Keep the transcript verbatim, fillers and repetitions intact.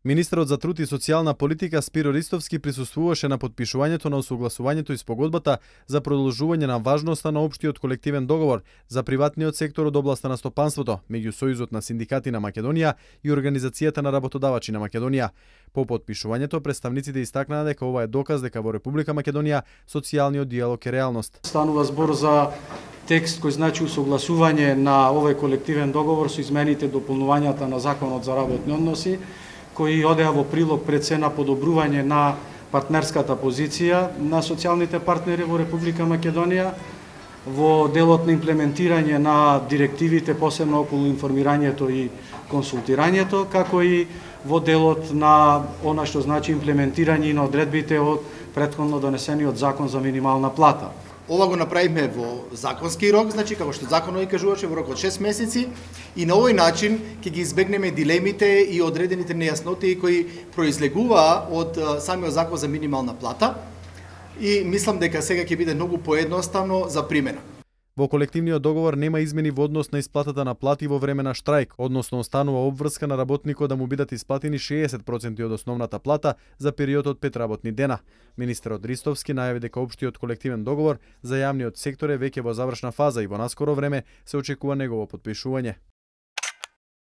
Министерот за труд и социјална политика Спиро Ристовски присуствуваше на потпишувањето на усогласувањето и спогодбата за продолжување на важноста на општиот колективен договор за приватниот сектор од областа на стопанството меѓу Сојузот на синдикати на Македонија и Организацијата на работодавачи на Македонија. По потпишувањето представниците истакнаа дека ова е доказ дека во Република Македонија социјалниот диалог е реалност. Станува збор за текст кој значи усогласување на овој колективен договор со измените и дополнувањата на Законот за работни односи, кои одеа во прилог пред се на подобрување на партнерската позиција на социјалните партнери во Република Македонија, во делот на имплементирање на директивите, посебно околу информирањето и консултирањето, како и во делот на она што значи имплементирање на одредбите од претходно донесениот Закон за минимална плата. Ова го направивме во законски рок, значи како што законот и кажуваше, во рок од шест месеци, и на овој начин ќе ги избегнеме дилемите и одредените нејасноти кои произлегуваа од самиот закон за минимална плата, и мислам дека сега ќе биде многу поедноставно за примена. Во колективниот договор нема измени во однос на исплатата на плати во време на штрајк, односно останува обврска на работникот да му бидат исплатени шеесет проценти од основната плата за период од пет работни дена. Министерот Ристовски најави дека општиот колективен договор за јавниот сектор е веќе во завршна фаза и во наскоро време се очекува негово потпишување.